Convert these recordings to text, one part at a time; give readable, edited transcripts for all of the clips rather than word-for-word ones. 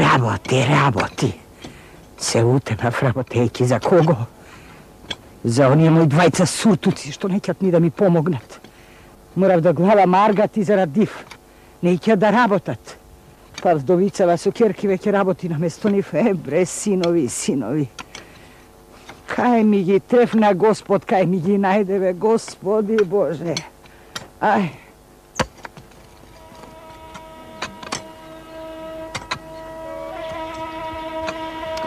Работи. Се утемав работејќи за кого? За оние мои двајца суртуци што неќат ни да ми помогнат. Морав да главам аргати зарад див. Неќат да работат. Па вдовицава со керки веќе работи на место нив. Бре, синови. Кај ми ги трефна Господ, кај ми ги најдеве, Господи Боже. Ај.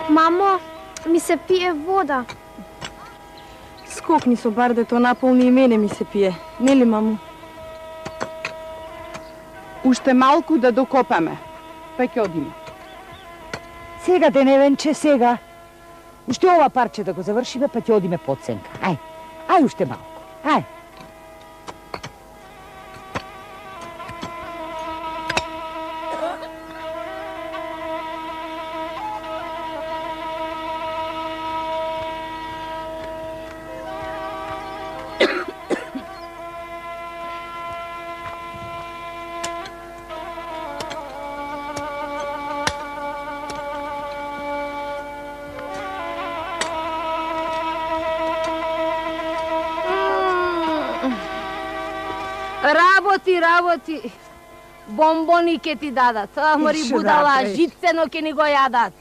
Мамо, ми се пие вода. Скокни со бардето, наполни и мене ми се пие. Нели, мамо? Уште малку да докопаме, па ќе одиме. Сега, Деневенче, сега. Уште ова парче да го завршиме, па ќе одиме под сенка. Ај уште малку. Ај. Работи. Бомбони ке ти дадат. Мори будала, жицено ке ни го јадат.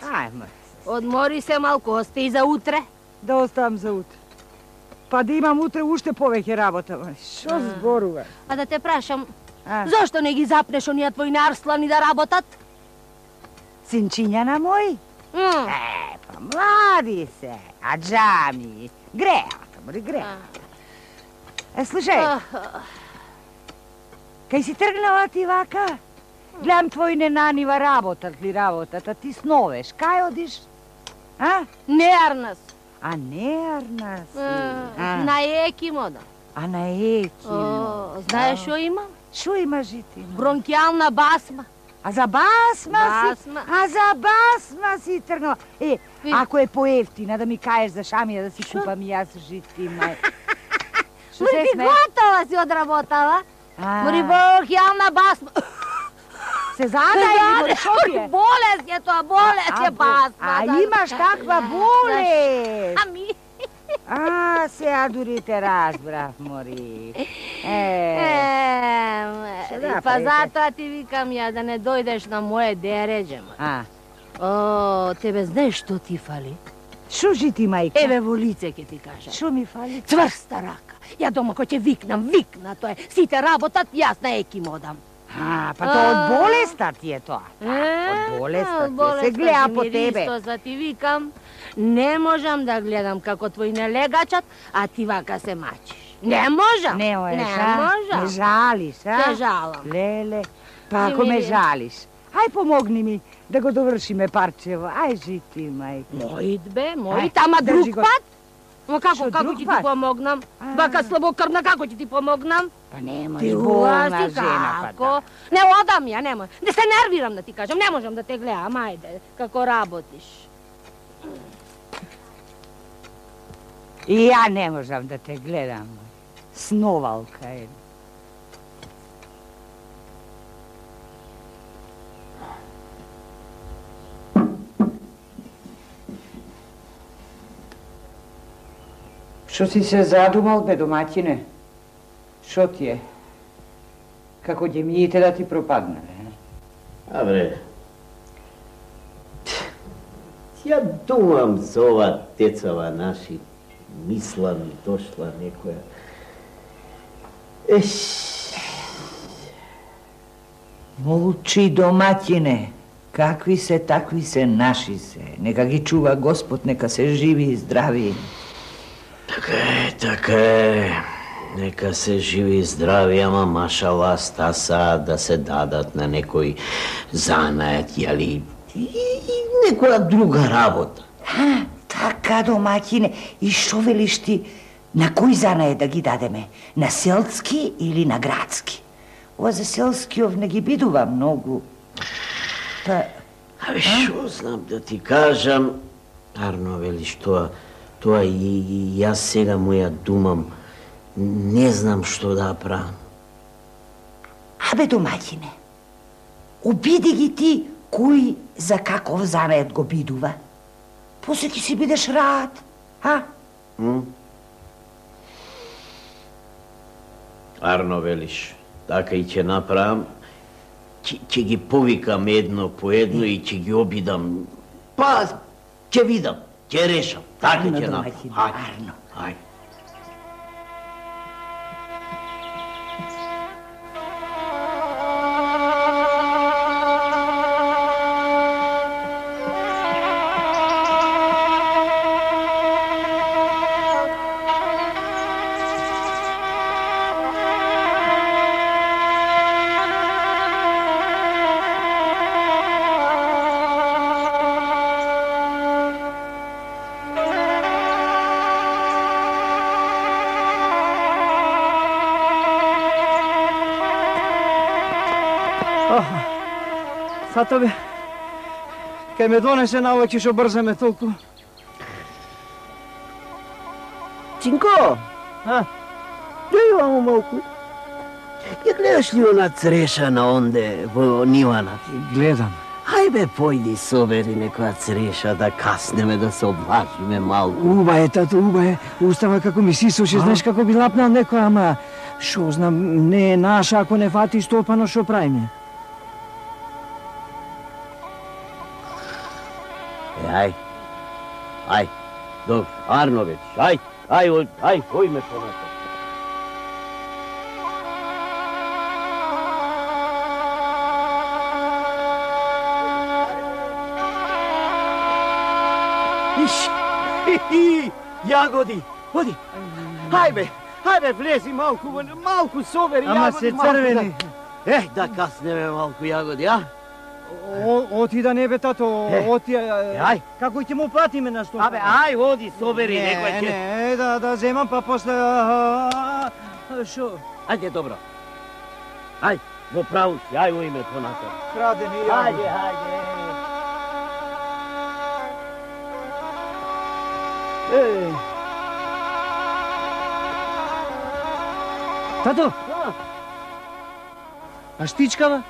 Одмори се малку, остај за утре. Да оставам за утре. Па да имам утре уште повеќе работа. Шо зборува? А да те прашам, зошто не ги запнеш онија твои арслани да работат? Синчиња на мој? Па млади се, а джами. Греат. Слушај. Кај си тргнала ти вака? Гледам твои ненанива работат, а ти сновеш. Кај одиш? Не арнас. А не арнас? На екимода. А на екимода? Знаеш шо има? Шо има, жити? Бронкиална басма. А за басма си? А за басма си тргнала. Ако е поевтина, да ми каеш за шамија да си купам и јас, жити, мај. Шо се сме? Готова си одработала. Мори бронкиална басма. Се задај, шо ти е? Болест е тоа, болест е басма. А имаш таква болест? Ами. Сега дури те разбрав, мори. Па затоа ти викам ја да не дојдеш на моje дереđe. Тебе знаеш што ти фали? Шо жити, мајка? Еве во лице ќе ти кажам. Шо ми фали? Цврста рака. Ја дома кој ќе викна, тоа е. Сите работат, јас на еким одам. Па тоа од болеста ти е тоа. Од болеста ти е. Се гледа по тебе. За ти викам, не можам да гледам како твои не легачат, а ти вака се мачиш. Не можам. Не можам. Не жалиш, Те жалам. Леле, па ако ме жалиш, ај помогни ми да го довршиме парчево. Ај жити, мајка. Мојд, ама друг пат? Но како ќе ти помогнам? Бака слабокрвна, како ќе ти помогнам? Па немаш болна жена, па да. Не одам ја, немој. Не се нервирам да ти кажам, не можам да те гледам, ајде, како работиш. И ја не можам да те гледам. Сновалка е. Шо си се задумал, бе, домаќине? Шо ти е? Како ѓемиите да ти пропаднале? Абре, ја думам за ова тецава наши, мислам и дошла некоја. Молчи, домаќине. Какви се, такви се, наши се. Нека ги чува Господ, нека се живи и здрави. Така е. Нека се живи и здрави, ама машала стаса да се дадат на некој занајат, јали, и некоја друга работа. Така, домаќине. И шо велиш ти, на кој занајат да ги дадеме? На селски или на градски? Ова за селскиов не ги бидува многу. Шо знам да ти кажам, арно велиш тоа и јас сега му ја думам, не знам што да правам. Абе, домаќине, обиди ги ти кој за каков занает го бидува? После ќе си бидеш рад, а? Арно велиш, така и ќе направам. Ќе ги повикам едно по едно и ќе ги обидам. Па, ќе видам, ќе решам. Така ќе направам. Арно. Ајде. Тато бе, кај ме донесе навеќе шо брзаме толку. Цинко! Дојди вамо малку. Ја гледаш ли она цреша на онде во нивана? Гледам. Ајбе, појди собери некоја цреша да каснеме, да се облажиме малку. Уба е, тато, уба е. Устава како ми сисоше, знаеш како би лапнал некоја, ама шо знам, не е наша, ако не фати стопано, шо правиме? Ај, добро, Арно вече, ај, ојме понатаму. Јагоди, оди. Хајбе, влези малку собери. Ама се црвени. Да каснеме малку јагоди, а? Оти да не бе, тато, оти... Ај. Како ќе му платиме на што? Ај, оди, собери некој ќе... Не, да земам, па после... Шо? Ајде, добро. Ај, во праву си, ај, уиме понатаму. Крадени јагоди. Ајде. Тато! А штичкава?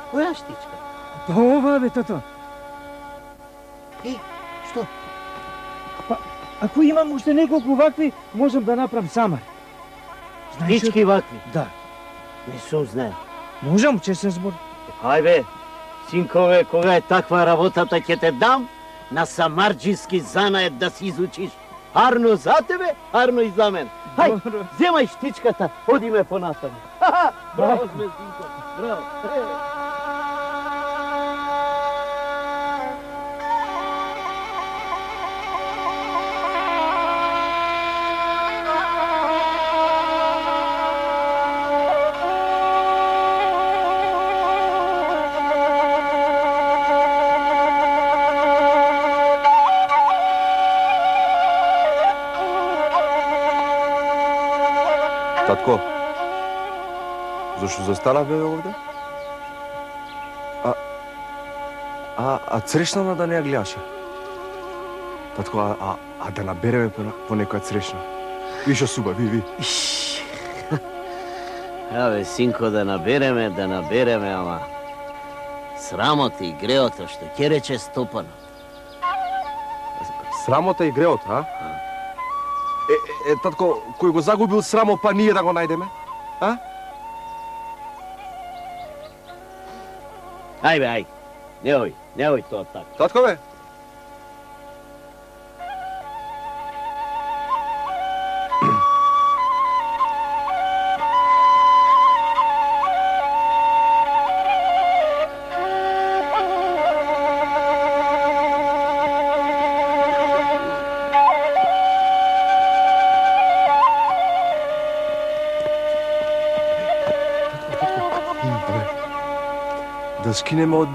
Која штичка? Па ова бе, тато. Што? Па, ако имам уште неколку вакви, можам да направам самар. Штички вакви? Да. Не сум знае. Можам, честен збор. Ајбе, синкове, кога е таква работата, ќе те дам на самарџиски занает да си изучиш. Арно за тебе, Арно и за мен. Хај, земај штичката, одиме понатаму. Браво сме, синко, браво. Татко, зашто застана бе овде? А црешна да не ја гледаше? Татко, а да набереме по некоја црешна? Вишо суба, ви. Абе, синко, да набереме, ама... Срамота и греото, што ќе рече Стопано. Срамота и греот, а? Татко, кој го загубил срамо, па ние да го најдеме? А? Ајбе, не ој тоа така. Татко бе? Да скинеме од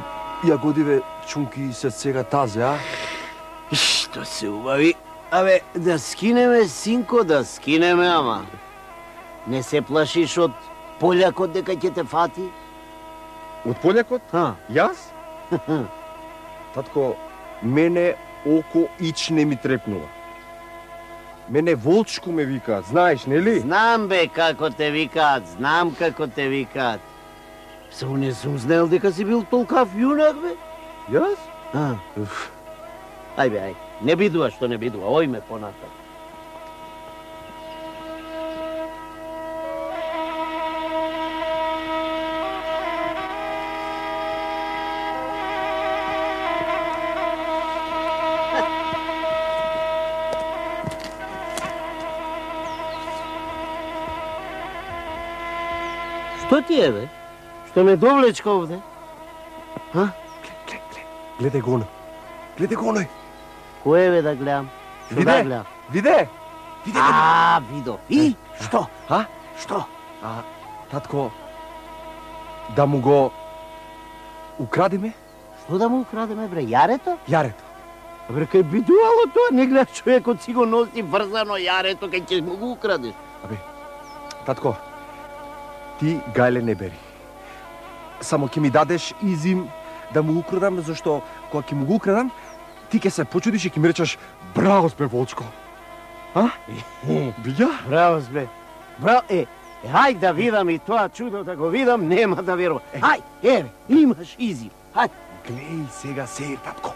јагодиве чунки се сега тазе, а? Што се убави? Абе, да скинеме, синко, да скинеме, ама... Не се плашиш од полјакот дека ќе те фати? Од полјакот? Јас? Татко, мене око ич не ми трепнува. Мене волчко ме викаат, знаеш, нели? Знам бе како те викаат, знам како те викаат. Само не сум знаел дека си бил толкав јунак, бе. Јас? Ај бе, ај. Не бидува што не бидува, ојме понатаму. Што ти е, бе? Што ме довлечка овде? Гледај го оној. Гледај го оној. Кој е, бе, да гледам? Што да гледам? Виде? Видов. И? Што? Што? Татко, да му го украдиме? Што да му украдеме, бре? Јарето? Јарето. Бре, кај бидувало тоа, не гледаш човекот си го носи врзано јарето, кај ќе му го украдеш. Татко, ти гајле не бери. Само ќе ми дадеш изим да му украдам, зашто кога ќе му го украдам, ти ќе се почудиш и ќе ми речеш браво спе Волчко. Видја? Браво спе. Браво, хај да видам и тоа чудо да го видам, нема да верувам. Хај, еве, имаш изим. Хај. Глеј сега сеир, татко.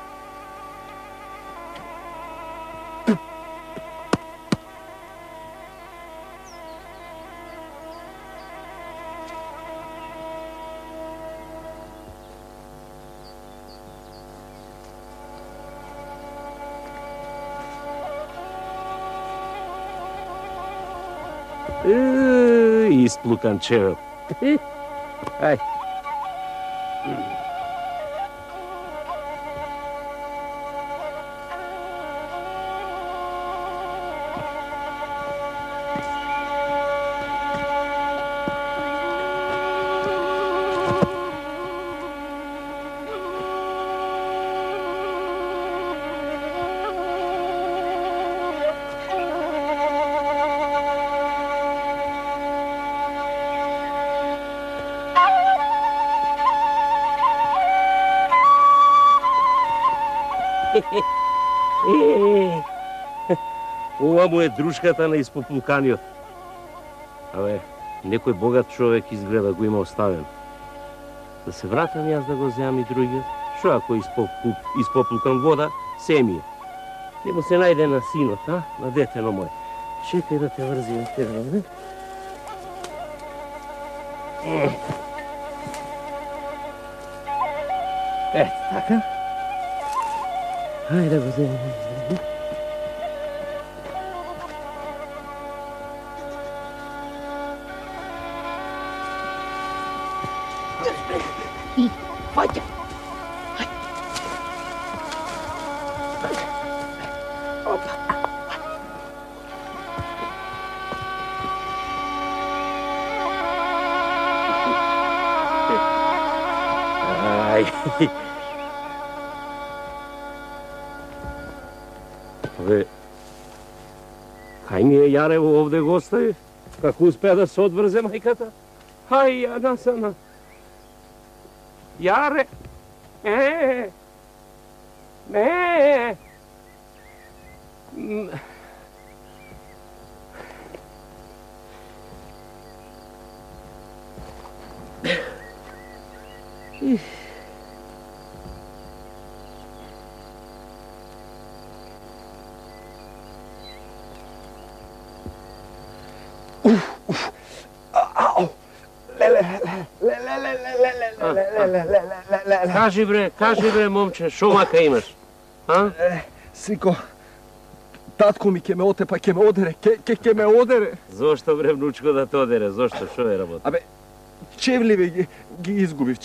Исплукан чевел. Ај. Ова му е дружката на испоплуканиот. Абе, некој богат човек изгледа го има оставен. Да се вратам јас да го земам и другиот. Шо ако испоплукам вода, се ми е. Не му се најде на синот, на детено мој. Чекај да те врзим тебе, не? Така. Хајде да го земам. Вајде. Абе, кај ми е Јарево овде го остави? Како успеа да се одврзе мајката? Хај, ја насана. Јаре! Не! Кажи бре, момче, шо мака имаш? Синко, татко ми ќе ме отепа, ќе ме одере, ќе ме одере. Зошто бре, внучко, да те одере? Зошто? Шо е работа? Абе, чевливе ги изгубив,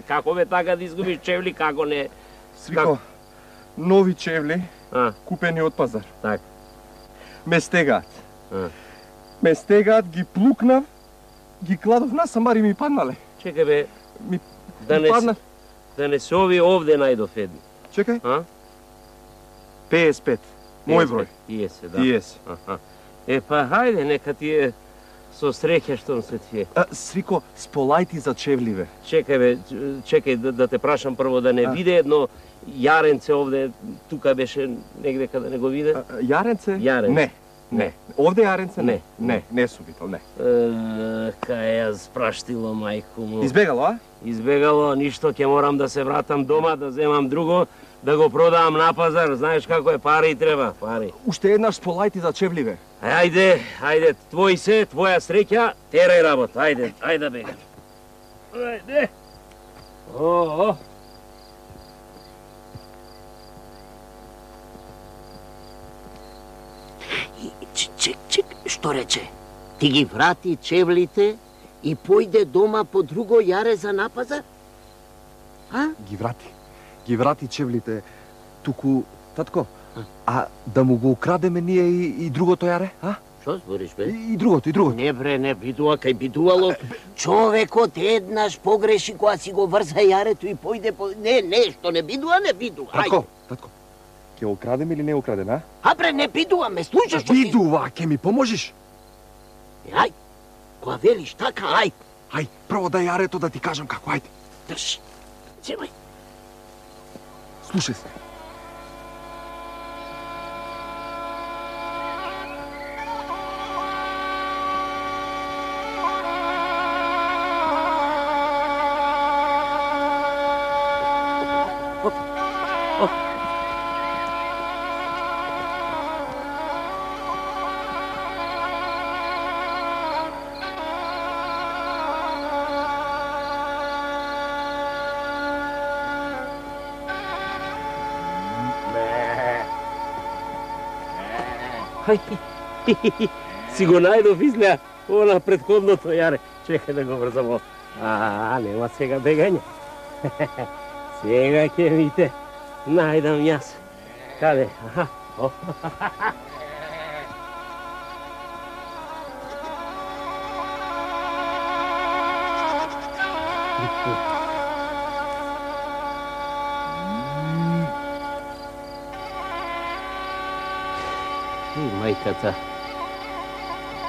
Како бе така да изгубиш чевли, како не? Свико, нови чевли, купени од пазар. Так. Ме стегаат. Ме стегаат, ги плукнав, ги кладов на самари ми паднале. Чекај бе, да не се ови овде најдов едни. Чекај. 55. Мој број. Иесе, да. Иесе. Па хајде, нека ти е со среќа штом се ти е. Свико, сполајти за чевливе. Чекај да те прашам прво да не виде едно јаренце овде, тука беше негде каде не го виде. Јаренце? Јаренце. Не. Не. Овде јаренце? Не. Не сум видел, не. Кај ја спраштило мајко му. Избегало, а? Избегало, ништо, ќе морам да се вратам дома, да земам друго, да го продавам на пазар. Знаеш како е, пари треба, пари. Уште еднаш сполајти за чевливе. Ајде, твој се, твоја среќа, терај работа, ајде бега. Ајде. Чек, што рече? Ти ги врати чевлите и појде дома по друго јаре за напазар? А? Ги врати чевлите, туку, татко, а да му го украдеме ние и другото јаре, а? Што збориш, бе? И другото. Не бре, не бидува, кај бидувало. Човекот еднаш погреши кога си го врза јарето и појде по... Не, што не бидува. Татко, ќе го украдеме или не го украдеме, а? А бре, не бидува, ме слушаш што Бидува, ќе ми поможиш? Ај, кога велиш така, ај. Ај, прво да јарето да ти кажам како, ајде. Држи, земај. Слушај се. Си го најдов излеа, она предходното јаре. Чекај да го врзам. Нема сега бегање. Сега ќе видите, најдам јас. Каде? Мајката,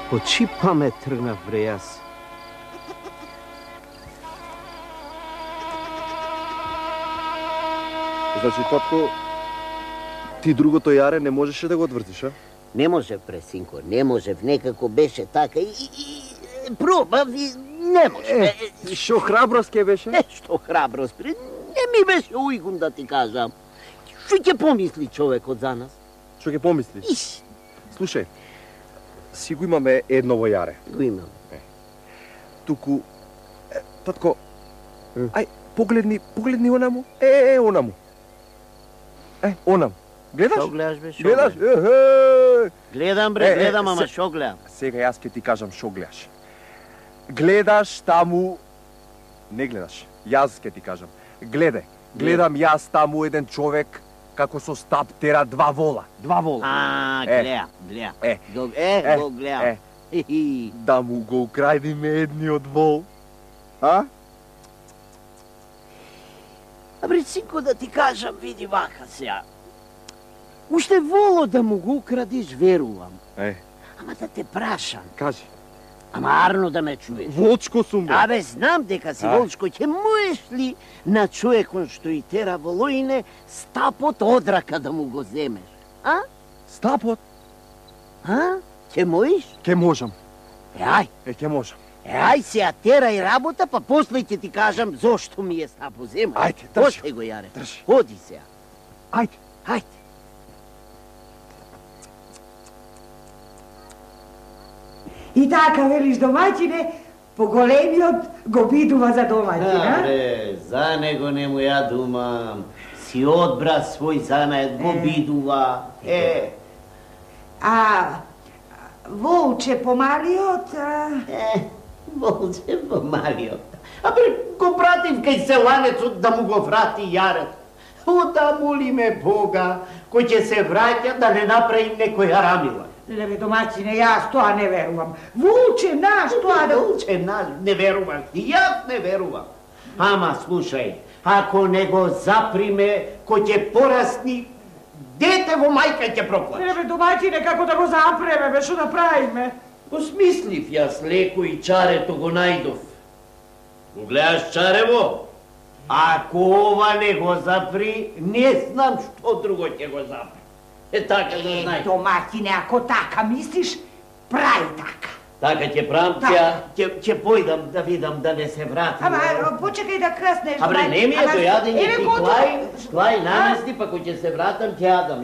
по чиј памет тргнав бре јас? Значи, татко, ти другото јаре не можеше да го отвртиш, а? Не може, бре, синко, не може. Некако беше така и пробав и не може. Шо храброст ке беше? Што храброст, бре? Не ми беше уигун да ти кажам. Што ќе помисли човекот за нас? Што ќе помисли? Слушај, си го имаме едно во јаре. Го имам. Туку, татко, ај, погледни онаму. Онаму. Онаму. Гледаш? Шо гледаш, бе, шо гледаш? Гледам, бре, гледам, ама шо гледам? Сега јас ќе ти кажам шо гледаш. Гледаш таму... Не гледаш, јас ќе ти кажам. Гледам јас таму еден човек како со стап тера два вола. Гледам. Го гледам. Да му го украдиме едниот вол. А? Абре, синко, да ти кажам, види вака сега. Уште воло да му го украдиш, верувам. Ама да те прашам. Кажи. Ама арно да ме чуеш. Волчко сум, бе. Абе, знам дека си волчко. Ќе можеш ли на човекон што и тера волоине стапот од рака да му го земеш? А? Стапот? А? Ќе можеш? Ќе можам. Ај. Ќе можам. Ај сега терај работа, па после ќе ти кажам зошто ми е стапот земаш. Ајде, држи. После го јаре. Држи. Оди сега. Ајде. И така, велиш домаќине, поголемиот го бидува за домаќин, а? Бре, за него не му ја думам. Си одбра свој занает, го бидува. Волче помалиот? Волче помалиот. Абе, го пратив кај селанецот да му го врати јарето. Ота моли ме Бога, кој ќе се враќа да не направи некој арамила. Леле, домаќине, јас тоа не верувам. Волче наш, тоа да... Волче наш, не верувам. И јас не верувам. Ама, слушај, ако не го заприме, кој ќе порасни, дете во мајка ќе проплаче. Леле, домаќине, како да го запреме, бе, што да правиме? Посмислив јас леко и чарето го најдов. Го гледаш чарево? Ако ова не го запри, не знам што друго ќе го запри. Така да знаеш. Доматине, ако така мислиш, прави така. Така ќе правам, ќе појдам да видам да не се врати. Ама, почекај да крснеш. Абре, не ми е дојадење, ти клај намести, па кој ќе се вратам, ќе јадам.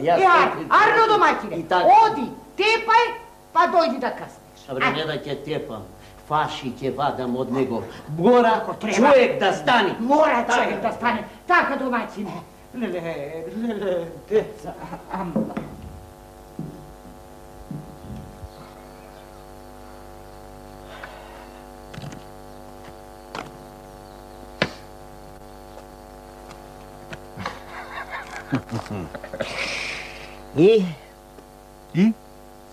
Арно, доматине, оди, тепај, па дојди да крснеш. Абре, не да ќе тепам. Фаши ќе вадам од него. Мора човек да стане. Мора човек да стане. Така, доматине. Леле, деца, ама. И? И?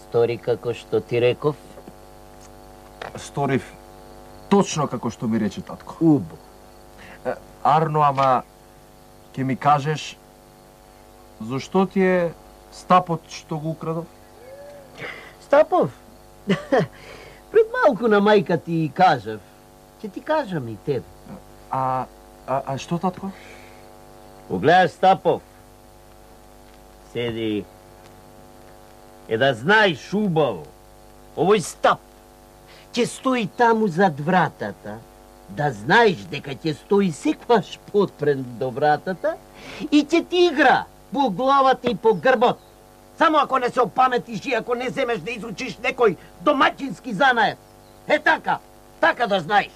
Стори како што ти реков? Сторив точно како што ми рече татко. Убо. Арно, ама ќе ми кажеш зошто ти е стапот што го украдов? Стапов? Пред малку на мајка ти кажав. Ќе ти кажам и тебе. А што, татко? Погледаш, Стапов. Седи. Да знаеш убаво. Овој Стап ќе стои таму зад вратата. Да знаеш дека ќе стои секваш подпрен до вратата и ќе ти игра по главата и по грбот. Само ако не се опаметиш и ако не земеш да изучиш некој домаќински занаед. Така да знаеш.